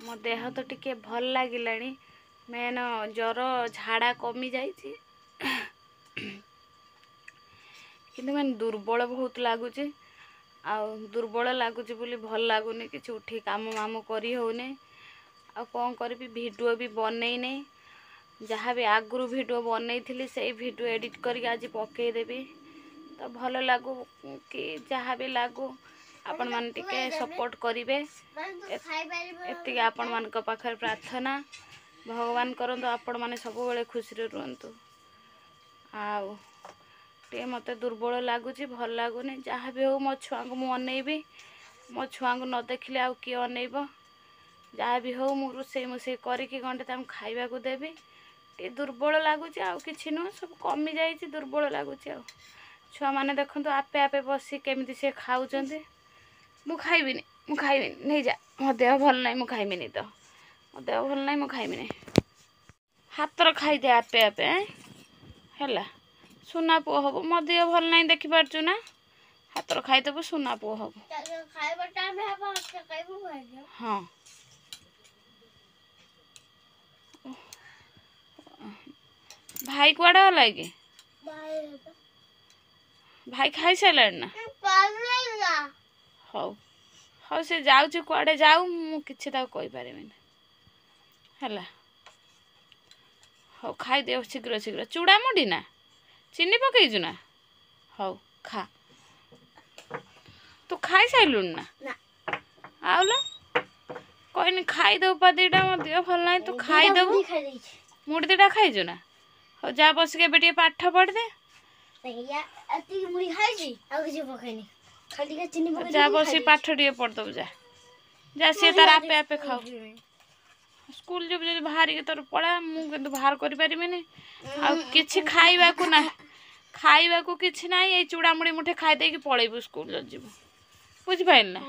ମୋ ଦେହ ତ ଟିକେ ଭଲ ଲାଗିଲାଣି, ମେନ୍ ଜ୍ୱର ଝାଡ଼ା କମିଯାଇଛି, କିନ୍ତୁ ମାନେ ଦୁର୍ବଳ ବହୁତ ଲାଗୁଛି। ଆଉ ଦୁର୍ବଳ ଲାଗୁଛି ବୋଲି ଭଲ ଲାଗୁନି କିଛି, ଉଠି କାମ ମାମ କରି ହେଉନି। ଆଉ କ'ଣ କରିବି, ଭିଡ଼ିଓ ବି ବନେଇନି। ଯାହା ବି ଆଗରୁ ଭିଡ଼ିଓ ବନେଇଥିଲି ସେଇ ଭିଡ଼ିଓ ଏଡ଼ିଟ୍ କରିକି ଆଜି ପକେଇଦେବି। ତ ଭଲ ଲାଗୁ କି ଯାହା ବି ଲାଗୁ, ଆପଣମାନେ ଟିକେ ସପୋର୍ଟ କରିବେ, ଏତିକି ଆପଣମାନଙ୍କ ପାଖରେ ପ୍ରାର୍ଥନା। ଭଗବାନ କରନ୍ତୁ ଆପଣମାନେ ସବୁବେଳେ ଖୁସିରେ ରୁହନ୍ତୁ। ଆଉ ଟିକେ ମୋତେ ଦୁର୍ବଳ ଲାଗୁଛି, ଭଲ ଲାଗୁନି। ଯାହା ବି ହଉ ମୋ ଛୁଆଙ୍କୁ ମୁଁ ଅନେଇବି, ମୋ ଛୁଆଙ୍କୁ ନ ଦେଖିଲେ ଆଉ କିଏ ଅନେଇବ? ଯାହା ବି ହଉ ମୁଁ ରୋଷେଇ ମୋଷେଇ କରିକି ଗଣ୍ଡେ ତାଙ୍କୁ ଖାଇବାକୁ ଦେବି। ଟିକେ ଦୁର୍ବଳ ଲାଗୁଛି, ଆଉ କିଛି ନୁହଁ, ସବୁ କମିଯାଇଛି, ଦୁର୍ବଳ ଲାଗୁଛି। ଆଉ ଛୁଆମାନେ ଦେଖନ୍ତୁ ଆପେ ଆପେ ବସି କେମିତି ସେ ଖାଉଛନ୍ତି। ମୁଁ ଖାଇବିନି, ମୁଁ ଖାଇବିନି, ନେଇଯା, ମୋ ଦେହ ଭଲ ନାହିଁ, ମୁଁ ଖାଇବିନି ତ, ମୋ ଦେହ ଭଲ ନାହିଁ, ମୁଁ ଖାଇବିନି। ହାତର ଖାଇଦେ ଆପେ ଆପେ, ହେଲା ସୁନା ପୁଅ ହବୁ। ମୋ ଦେହ ଭଲ ନାହିଁ ଦେଖିପାରୁଛୁ ନା, ହାତର ଖାଇଦେବୁ, ସୁନା ପୁଅ ହବୁ। ହଁ, ଭାଇ କୁଆଡ଼େ ଗଲା କି? ଭାଇ ଖାଇସାରିଲାଣି ନା? ହଉ ହଉ, ସେ ଯାଉଛି କୁଆଡ଼େ ଯାଉ, ମୁଁ କିଛି ତାକୁ କହିପାରିବିନି। ହେଲା, ହଉ ଖାଇଦିଅ ଶୀଘ୍ର ଶୀଘ୍ର। ଚୁଡ଼ା ମୁଢ଼ି ନା ଚିନି ପକେଇଛୁ ନା? ହଉ ଖା। ତୁ ଖାଇସାରିଲୁଣି ନା? ଆଉ ଲୋ କହିନି ଖାଇଦେବୁ ପା ଦୁଇଟା, ମୋ ଦେହ ଭଲ ନାହିଁ, ତୁ ଖାଇଦେବୁ। ମୁଢ଼ି ଦୁଇଟା ଖାଇଛୁ ନା? ହଉ ଯା ବସିକି ଏବେ ଟିକେ ପାଠ ପଢ଼ିଦେ। ଯା ବସିକି ପାଠ ଟିକେ ପଢ଼ିଦେବୁ, ଯା ଯା। ସିଏ ତାର ଆପେ ଆପେ ଖାଉ। ସ୍କୁଲ ଯିବୁ ଯଦି ବାହାରିକି ତୋର ପଳା, ମୁଁ କିନ୍ତୁ ବାହାର କରିପାରିବିନି। ଆଉ କିଛି ଖାଇବାକୁ ନାହିଁ, ଖାଇବାକୁ କିଛି ନାହିଁ, ଏଇ ଚୁଡ଼ାମୁଡ଼ି ମୁଠେ ଖାଇଦେଇକି ପଳେଇବୁ ସ୍କୁଲ ଯଦି ଯିବୁ, ବୁଝିପାରିଲୁ ନା?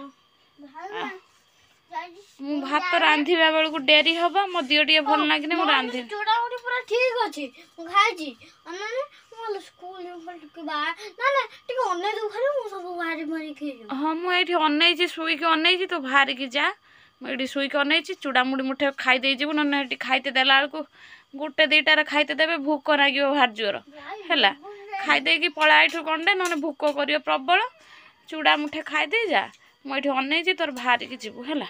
ମୁଁ ଭାତ ରାନ୍ଧିବା ବେଳକୁ ଡେରି ହବ, ମୋ ଦିହ ଟିକେ ଭଲ ଲାଗିନି, ମୁଁ ରାନ୍ଧିବି। ଚୁଡ଼ାମୁଡ଼ି ପୁରା ଠିକ ଅଛି, ମୁଁ ଖାଇଛି। ହଁ, ମୁଁ ଏଇଠି ଅନେଇଛି, ଶୋଇକି ଅନେଇଛି, ତୁ ବାହାରିକି ଯା। ମୁଁ ଏଇଠି ଶୋଇକି ଅନେଇଛି। ଚୁଡ଼ାମୁଡ଼ି ମୁଠେ ଖାଇ ଦେଇଯିବୁ, ନହେଲେ ଏଠି ଖାଇତେ ଦେଲା ବେଳକୁ ଗୋଟେ ଦୁଇଟାରେ ଖାଇତେ ଦେବେ, ଭୋକ ଲାଗିବ ଭାରି ଜୋର। ହେଲା, ଖାଇଦେଇକି ପଳା ଏଇଠୁ ଗଣ୍ଡେ, ନହେଲେ ଭୋକ କରିବ ପ୍ରବଳ। ଚୁଡ଼ା ମୁଠେ ଖାଇଦେଇ ଯା, ମୁଁ ଏଇଠି ଅନେଇଛି, ତୋର ବାହାରିକି ଯିବୁ। ହେଲା,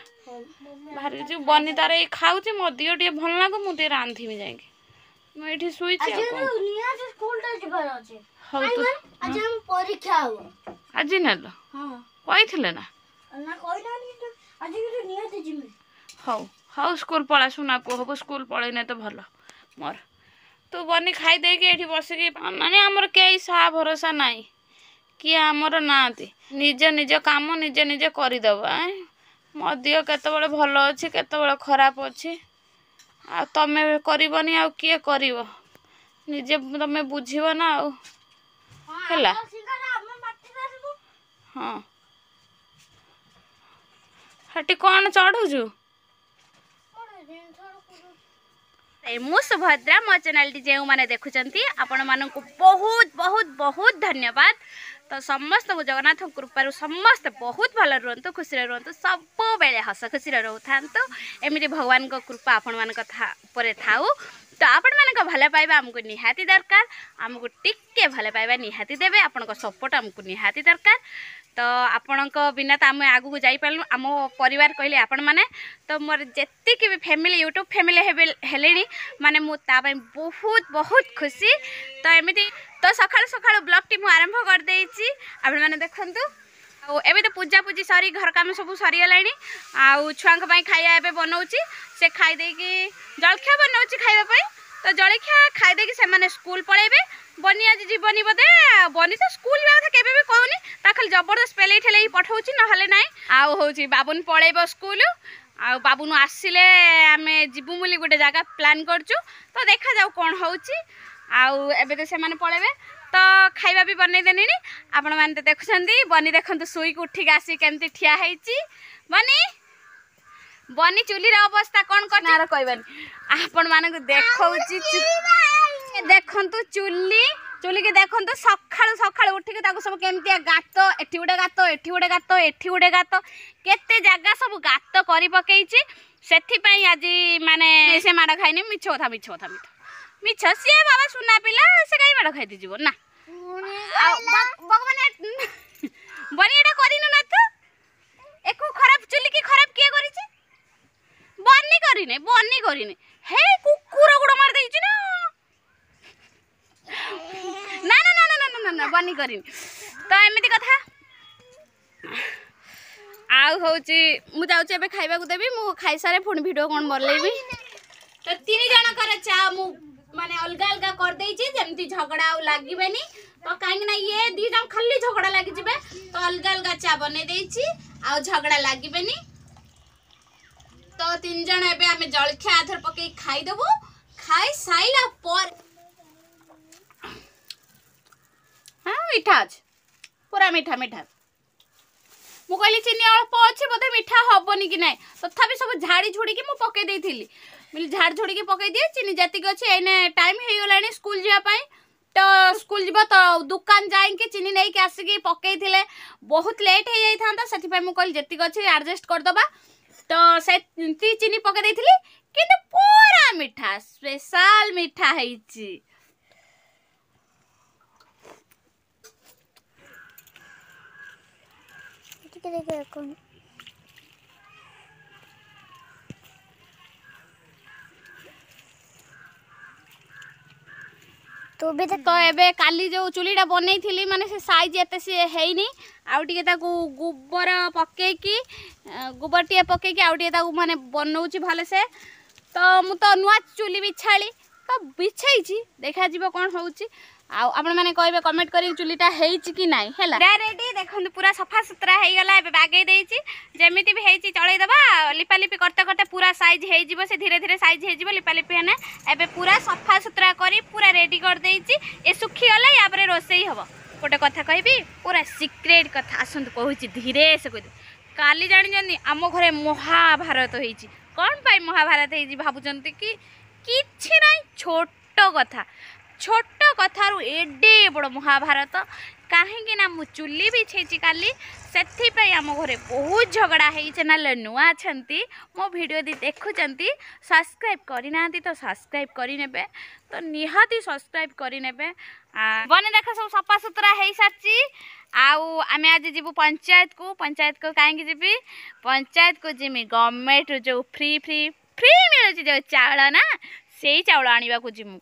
ବାହାରିକି ଯିବୁ। ବନି ତାର ଏଇ ଖାଉଛି। ମୋ ଦିହ ଟିକେ ଭଲ ଲାଗୁ, ମୁଁ ଟିକେ ରାନ୍ଧିବି ଯାଇକି। ମୁଁ ଏଇଠି ଶୋଇଛି। ଆଉ କ'ଣ? ହଉ ତୁ ପରୀକ୍ଷା ହବ ଆଜି ନେଲ କହିଥିଲେ ନା? ହଉ ହଉ, ସ୍କୁଲ ପଳା, ସୁନା ପୁଅ ହବୁ। ସ୍କୁଲ ପଳେଇନେ ତ ଭଲ ମୋର। ତୁ ବନି ଖାଇଦେଇକି ଏଇଠି ବସିକି, ମାନେ ଆମର କେହି ସାହା ଭରସା ନାହିଁ, କିଏ ଆମର ନାହାନ୍ତି, ନିଜ ନିଜ କାମ ନିଜେ ନିଜେ କରିଦେବ। ମୋ ଦିହ କେତେବେଳେ ଭଲ ଅଛି, କେତେବେଳେ ଖରାପ ଅଛି, ଆଉ ତମେ କରିବନି ଆଉ କିଏ କରିବ? ନିଜେ ତମେ ବୁଝିବ ନା ଆଉ। ହେଲା, ହଁ, ସେଠି କ'ଣ ଚଢ଼ୁଛୁ? ମୁଁ ସୁଭଦ୍ରା, ମୋ ଚ୍ୟାନେଲଟି ଯେଉଁମାନେ ଦେଖୁଛନ୍ତି ଆପଣମାନଙ୍କୁ ବହୁତ ବହୁତ ବହୁତ ଧନ୍ୟବାଦ। ତ ସମସ୍ତଙ୍କୁ ଜଗନ୍ନାଥଙ୍କ କୃପାରୁ ସମସ୍ତେ ବହୁତ ଭଲ ରୁହନ୍ତୁ, ଖୁସିରେ ରୁହନ୍ତୁ, ସବୁବେଳେ ହସ ଖୁସିରେ ରହୁଥାନ୍ତୁ। ଏମିତି ଭଗବାନଙ୍କ କୃପା ଆପଣମାନଙ୍କ ଉପରେ ଥାଉ। ତ ଆପଣମାନଙ୍କ ଭଲ ପାଇବା ଆମକୁ ନିହାତି ଦରକାର, ଆମକୁ ଟିକେ ଭଲ ପାଇବା ନିହାତି ଦେବେ, ଆପଣଙ୍କ ସପୋର୍ଟ ଆମକୁ ନିହାତି ଦରକାର। ତ ଆପଣଙ୍କ ବିନା ତ ଆମେ ଆଗକୁ ଯାଇପାରିଲୁ। ଆମ ପରିବାର କହିଲେ ଆପଣମାନେ। ତ ମୋର ଯେତିକି ବି ଫ୍ୟାମିଲି, ୟୁଟ୍ୟୁବ୍ ଫ୍ୟାମିଲି ହେଲେଣି, ମାନେ ମୁଁ ତା ପାଇଁ ବହୁତ ବହୁତ ଖୁସି। ତ ଏମିତି ତ ସକାଳୁ ସକାଳୁ ବ୍ଲଗ୍ଟି ମୁଁ ଆରମ୍ଭ କରିଦେଇଛି, ଆପଣମାନେ ଦେଖନ୍ତୁ। ଆଉ ଏବେ ତ ପୂଜା ପୂଜି ସରି ଘର କାମ ସବୁ ସରିଗଲାଣି, ଆଉ ଛୁଆଙ୍କ ପାଇଁ ଖାଇବା ଏବେ ବନଉଛି। ସେ ଖାଇଦେଇକି ଜଳଖିଆ ବନଉଛି ଖାଇବା ପାଇଁ। ତ ଜଳଖିଆ ଖାଇଦେଇକି ସେମାନେ ସ୍କୁଲ ପଳେଇବେ। ବନି ଆଜି ଯିବନି ବୋଧେ। ବନି ତ ସ୍କୁଲ ଯିବା କଥା କେବେ ବି କହୁନି, ତା ଖାଲି ଜବରଦସ୍ତ ପେଲେଇ ଠେଲେଇ ପଠଉଛି, ନହେଲେ ନାହିଁ। ଆଉ ହେଉଛି ବାବୁନ ପଳେଇବ ସ୍କୁଲ, ଆଉ ବାବୁନୁ ଆସିଲେ ଆମେ ଯିବୁ ବୋଲି ଗୋଟେ ଜାଗା ପ୍ଲାନ୍ କରୁଛୁ। ତ ଦେଖାଯାଉ କ'ଣ ହେଉଛି। ଆଉ ଏବେ ତ ସେମାନେ ପଳେଇବେ, ତ ଖାଇବା ବି ବନେଇ ଦେଲିଣି। ଆପଣମାନେ ତ ଦେଖୁଛନ୍ତି, ବନି ଦେଖନ୍ତୁ ଶୋଇକି ଉଠିକି ଆସିକି କେମିତି ଠିଆ ହେଇଛି। ବନି, ବନି ଚୁଲିର ଅବସ୍ଥା କ'ଣ କରିଛି କହିବାନି, ଆପଣମାନଙ୍କୁ ଦେଖଉଛି। ଦେଖନ୍ତୁ ଚୁଲି, ଚୁଲିକି ଦେଖନ୍ତୁ। ସକାଳୁ ସକାଳୁ ଉଠିକି ତାକୁ ସବୁ କେମିତିଆ ଗାତ, ଏଠି ଗୋଟେ ଗାତ, ଏଠି ଗୋଟେ ଗାତ, ଏଠି ଗୋଟେ ଗାତ, କେତେ ଜାଗା ସବୁ ଗାତ କରି ପକେଇଛି। ସେଥିପାଇଁ ଆଜି ମାନେ ସେ ମାଡ଼ ଖାଇନି। ମିଛ କଥା, ମିଛ କଥା, ମିଛ ମିଛ। ସିଏ ବାବା ସୁନା ପିଲା, ସେ କାହିଁ ମାଡ଼ ଖାଇତେ ଯିବ ନା? ଆଉ ଭଗବାନ, ବନି ଏଟା କରିନୁ ନା ତୁ? ଏକୁ ଖରାପ, ଚୁଲିକି ଖରାପ କିଏ କରିଛି? ବନି କରିନି, ବନି କରିନି। ହେ, କୁକୁର ଗୋଡ଼ ମାରି ଦେଇଛି ନା? ନା ନା ନା ନା ନା ନା ନା, ବନି କରିନି। ତ ଏମିତି କଥା। ଆଉ ହେଉଛି ମୁଁ ଯାଉଛି ଏବେ ଖାଇବାକୁ ଦେବି। ମୁଁ ଖାଇସାରେ ପୁଣି ଭିଡ଼ିଓ କ'ଣ ବନେଇବି। ତ ତିନି ଜଣଙ୍କର ଚା ମୁଁ ମାନେ ଅଲଗା ଅଲଗା କରିଦେଇଛି, ଯେମିତି ଝଗଡ଼ା ଆଉ ଲାଗିବେନି ତ। କାହିଁକି ନା ଇଏ ଦି ଜଣ ଖାଲି ଝଗଡ଼ା ଲାଗିଯିବେ, ତ ଅଲଗା ଅଲଗା ଚା ବନେଇ ଦେଇଛି, ଆଉ ଝଗଡ଼ା ଲାଗିବେନି। ତ ତିନି ଜଣ ଏବେ ଆମେ ଜଳଖିଆ ଆଥର ପକେଇ ଖାଇଦେବୁ। ଖାଇ ସାଇଲା ପରେ, ହଁ, ମିଠା ଅଛି, ପୁରା ମିଠା ମିଠା। ମୁଁ କହିଲି ଚିନି ଅଳ୍ପ ଅଛି, ବୋଧେ ମିଠା ହବନି କି ନାହିଁ, ତଥାପି ସବୁ ଝାଡ଼ି ଝୁଡ଼ିକି ମୁଁ ପକେଇ ଦେଇଥିଲି। ଝାଡ଼ି ଝୁଡ଼ିକି ପକେଇ ଦିଏ ଚିନି ଯେତିକି ଅଛି। ଏଇନେ ଟାଇମ୍ ହେଇଗଲାଣି ସ୍କୁଲ ଯିବା ପାଇଁ, ତ ସ୍କୁଲ ଯିବ ତ ଦୋକାନ ଯାଇକି ଚିନି ନେଇକି ଆସିକି ପକେଇଥିଲେ ବହୁତ ଲେଟ୍ ହେଇଯାଇଥାନ୍ତା। ସେଥିପାଇଁ ମୁଁ କହିଲି ଯେତିକି ଅଛି ଆଡ଼ଜଷ୍ଟ କରିଦେବା, ତ ସେତିକି ଚିନି ପକେଇ ଦେଇଥିଲି। କିନ୍ତୁ ପୁରା ମିଠା, ସ୍ପେଶାଲ ମିଠା ହେଇଛି। ଟିକେ ଦେଖ କଣ ତୁ ବି। ତ ଏବେ କାଲି ଯେଉଁ ଚୁଲିଟା ବନେଇଥିଲି, ମାନେ ସେ ସାଇଜ୍ ଏତେ ସିଏ ହେଇନି, ଆଉ ଟିକେ ତାକୁ ଗୋବର ପକେଇକି, ଗୋବର ଟିକେ ପକେଇକି ଆଉ ଟିକେ ତାକୁ ମାନେ ବନଉଛି ଭଲସେ। ତ ମୁଁ ତ ନୂଆ ଚୁଲି ବିଛାଳି ତ ବିଛେଇଛି, ଦେଖାଯିବ କ'ଣ ହେଉଛି। ଆଉ ଆପଣମାନେ କହିବେ କମେଣ୍ଟ କରିକି ଚୁଲିଟା ହେଇଛି କି ନାହିଁ। ହେଲା ରେଡି, ଦେଖନ୍ତୁ ପୁରା ସଫାସୁତୁରା ହେଇଗଲା। ଏବେ ବାଗେଇ ଦେଇଛି, ଯେମିତି ବି ହେଇଛି ଚଳେଇଦେବା। ଲିପାଲିପି କରତେ କରତେ ପୁରା ସାଇଜ୍ ହେଇଯିବ, ସେ ଧୀରେ ଧୀରେ ସାଇଜ୍ ହେଇଯିବ ଲିପାଲିପି ହେଲେ। ଏବେ ପୁରା ସଫାସୁତୁରା କରି ପୁରା ରେଡି କରିଦେଇଛି। ଏ ଶୁଖିଗଲେ ୟା ପରେ ରୋଷେଇ ହବ। ଗୋଟେ କଥା କହିବି, ପୁରା ସିକ୍ରେଟ୍ କଥା, ଆସନ୍ତୁ କହୁଛି, ଧୀରେ ସେ କହିଦେବି। କାଲି ଜାଣିଛନ୍ତି ଆମ ଘରେ ମହାଭାରତ ହେଇଛି। କ'ଣ ପାଇଁ ମହାଭାରତ ହେଇଛି ଭାବୁଛନ୍ତି କି? କିଛି ନାହିଁ, ଛୋଟ କଥା, ଛୋଟ କଥାରୁ ଏଡ଼େ ବଡ଼ ମହାଭାରତ। କାହିଁକି ନା ମୁଁ ଚୁଲି ବିଛେଇଛି କାଲି, ସେଥିପାଇଁ ଆମ ଘରେ ବହୁତ ଝଗଡ଼ା ହେଇ। ଚ୍ୟାନେଲ୍ରେ ନୂଆ ଅଛନ୍ତି, ମୋ ଭିଡ଼ିଓ ଯଦି ଦେଖୁଛନ୍ତି, ସବସ୍କ୍ରାଇବ୍ କରିନାହାନ୍ତି ତ ସବସ୍କ୍ରାଇବ୍ କରିନେବେ, ତ ନିହାତି ସବସ୍କ୍ରାଇବ୍ କରିନେବେ। ବନେ ଦେଖ, ସବୁ ସଫାସୁତୁରା ହେଇସାରିଛି। ଆଉ ଆମେ ଆଜି ଯିବୁ ପଞ୍ଚାୟତକୁ। ପଞ୍ଚାୟତକୁ କାହିଁକି ଯିବି? ପଞ୍ଚାୟତକୁ ଯିମି ଗଭର୍ଣ୍ଣମେଣ୍ଟରୁ ଯେଉଁ ଫ୍ରି ଫ୍ରି ଫ୍ରି ମିଳୁଛି ଯେଉଁ ଚାଉଳ ନା, ସେଇ ଚାଉଳ ଆଣିବାକୁ ଯିମୁ।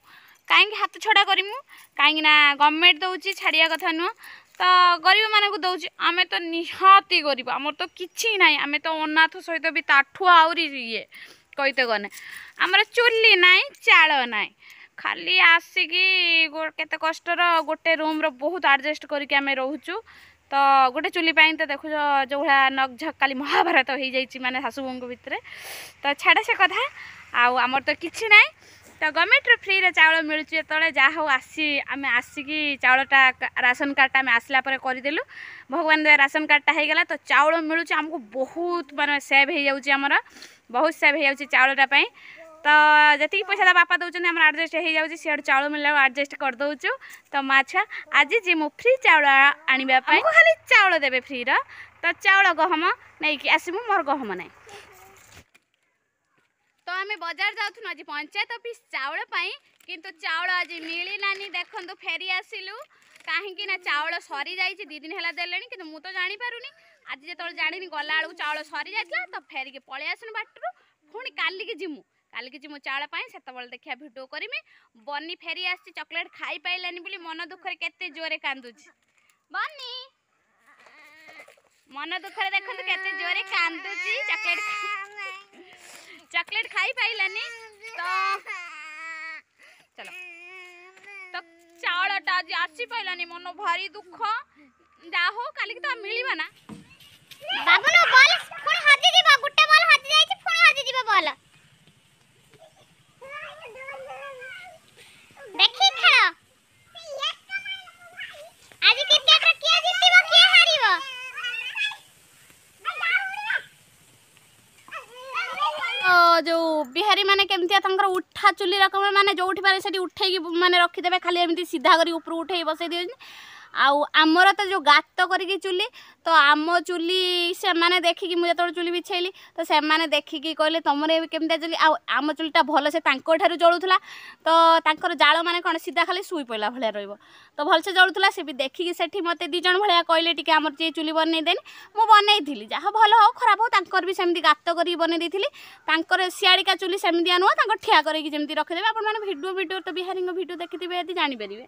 କାହିଁକି ହାତ ଛଡ଼ା କରିମୁ? କାହିଁକି ନା ଗଭର୍ଣ୍ଣମେଣ୍ଟ ଦେଉଛି, ଛାଡ଼ିବା କଥା ନୁହଁ। ତ ଗରିବମାନଙ୍କୁ ଦେଉଛି, ଆମେ ତ ନିହାତି ଗରିବ, ଆମର ତ କିଛି ନାହିଁ। ଆମେ ତ ଅନାଥ ସହିତ ବି ତାଠୁ ଆହୁରି ଇଏ କହିତେ ଗଲେ। ଆମର ଚୁଲି ନାହିଁ, ଚାଳ ନାହିଁ, ଖାଲି ଆସିକି କେତେ କଷ୍ଟର ଗୋଟେ ରୁମ୍ର ବହୁତ ଆଡ଼ଜଷ୍ଟ କରିକି ଆମେ ରହୁଛୁ। ତ ଗୋଟେ ଚୁଲି ପାଇଁ ତ ଦେଖୁଛ ଯେଉଁ ଭଳିଆ ନକଝକ କାଲି ମହାଭାରତ ହେଇଯାଇଛି ମାନେ ଶାଶୁ ବୋହୂଙ୍କ ଭିତରେ। ତ ଛାଡ଼ ସେ କଥା, ଆଉ ଆମର ତ କିଛି ନାହିଁ। ତ ଗଭର୍ଣ୍ଣମେଣ୍ଟରୁ ଫ୍ରିରେ ଚାଉଳ ମିଳୁଛି ଯେତେବେଳେ, ଯାହା ହଉ ଆସି ଆମେ ଆସିକି ଚାଉଳଟା, ରାସନ କାର୍ଡ଼ଟା ଆମେ ଆସିଲା ପରେ କରିଦେଲୁ। ଭଗବାନ ଦୟା, ରାସନ କାର୍ଡ଼ଟା ହେଇଗଲା ତ ଚାଉଳ ମିଳୁଛି ଆମକୁ। ବହୁତ ମାନେ ସେଭ୍ ହେଇଯାଉଛି ଆମର, ବହୁତ ସେଭ୍ ହେଇଯାଉଛି ଚାଉଳଟା ପାଇଁ। ତ ଯେତିକି ପଇସା ତା ବାପା ଦେଉଛନ୍ତି ଆମର ଆଡ଼ଜଷ୍ଟ ହେଇଯାଉଛି, ସିଆଡ଼ୁ ଚାଉଳ ମିଳିଲା ଆଡ଼ଜଷ୍ଟ କରିଦେଉଛୁ। ତ ମା ଛୁଆ ଆଜି ଯିମୁ ଫ୍ରି ଚାଉଳ ଆଣିବା ପାଇଁ। ଖାଲି ଚାଉଳ ଦେବେ ଫ୍ରିର, ତ ଚାଉଳ ଗହମ ନେଇକି ଆସିବୁ, ମୋର ଗହମ ନାହିଁ। ତ ଆମେ ବଜାର ଯାଉଥିଲୁ ଆଜି ପଞ୍ଚାୟତ ଅଫିସ ଚାଉଳ ପାଇଁ, କିନ୍ତୁ ଚାଉଳ ଆଜି ମିଳିଲାନି। ଦେଖନ୍ତୁ, ଫେରି ଆସିଲୁ। କାହିଁକି ନା ଚାଉଳ ସରିଯାଇଛି, 2 ଦିନ ହେଲା ଦେଲେଣି, କିନ୍ତୁ ମୁଁ ତ ଜାଣିପାରୁନି। ଆଜି ଯେତେବେଳେ ଜାଣିନି, ଗଲାବେଳକୁ ଚାଉଳ ସରିଯାଇଥିଲା, ତ ଫେରିକି ପଳେଇ ଆସିଲୁ ବାଟରୁ। ପୁଣି କାଲିକି ଯିମୁ, କାଲିକି ଯିମୁ ଚାଉଳ ପାଇଁ, ସେତେବେଳେ ଦେଖିବା ଭିଡ଼ିଓ କରିମି। ବନି ଫେରି ଆସିଛି, ଚକୋଲେଟ୍ ଖାଇପାରିଲାନି ବୋଲି ମନ ଦୁଃଖରେ କେତେ ଜୋରେ କାନ୍ଦୁଛି। ବନି ମନ ଦୁଃଖରେ ଦେଖନ୍ତୁ କେତେ ଜୋରେ କାନ୍ଦୁଛି, ଚକୋଲେଟ୍ ଖାଇପାରିଲାନି। ତ ଚାଲ, ତ ଚାଉଳଟା ଆଜି ଆସିପାରିଲାନି, ମନ ଭାରି ଦୁଃଖ। ଯାହା ହଉ କାଲିକି ତ ମିଳିବ ନା। ବାବୁନୁ, ବଲ୍ ପୁଣି ହଜିଯିବ। ଗୋଟେ ବଲ୍ ହଜି ଯାଇଛି, ପୁଣି ହଜିଯିବ ବଲ୍। ଦେଖି ଖେଳ, ଆଜି କ୍ରିକେଟରେ କିଏ ଜିତିବ କିଏ ହାରିବ? ଯେଉଁ ବିହାରୀ ମାନେ କେମିତିଆ, ତାଙ୍କର ଉଠା ଚୁଲି ରକମ, ମାନେ ଯେଉଁଠି ପାରେ ସେଠି ଉଠେଇକି ମାନେ ରଖିଦେବେ, ଖାଲି ଏମିତି ସିଧା କରି ଉପରୁ ଉଠେଇକି ବସେଇ ଦିଅନ୍ତି। ଆଉ ଆମର ତ ଯେଉଁ ଗାତ କରିକି ଚୁଲି, ତ ଆମ ଚୁଲି ସେମାନେ ଦେଖିକି, ମୁଁ ଯେତେବେଳେ ଚୁଲି ବିଛେଇଲି ତ ସେମାନେ ଦେଖିକି କହିଲେ ତମର ଏବେ କେମିତିଆ ଚୁଲି। ଆଉ ଆମ ଚୁଲିଟା ଭଲସେ ତାଙ୍କଠାରୁ ଜଳୁଥିଲା, ତ ତାଙ୍କର ଜାଳ ମାନେ କ'ଣ ସିଧା ଖାଲି ଶୋଇ ପଡ଼ିଲା ଭଳିଆ ରହିବ, ତ ଭଲସେ ଜଳୁଥିଲା। ସେ ବି ଦେଖିକି ସେଠି ମୋତେ 2 ଜଣ ଭଳିଆ କହିଲେ ଟିକେ ଆମର ଟିକେ ଚୁଲି ବନେଇ ଦେନି। ମୁଁ ବନେଇଥିଲି, ଯାହା ଭଲ ହଉ ଖରାପ ହଉ। ତାଙ୍କର ବି ସେମିତି ଗାତ କରିକି ବନେଇ ଦେଇଥିଲି। ତାଙ୍କର ସିଆଡ଼ିକା ଚୁଲି ସେମିତିଆ ନୁହଁ, ତାଙ୍କର ଠିଆ କରିକି ଯେମିତି ରଖିଦେବେ। ଆପଣମାନେ ଭିଡ଼ିଓ ତ ବିହାରୀଙ୍କ ଭିଡ଼ିଓ ଦେଖିଥିବେ ଯଦି ଜାଣିପାରିବେ।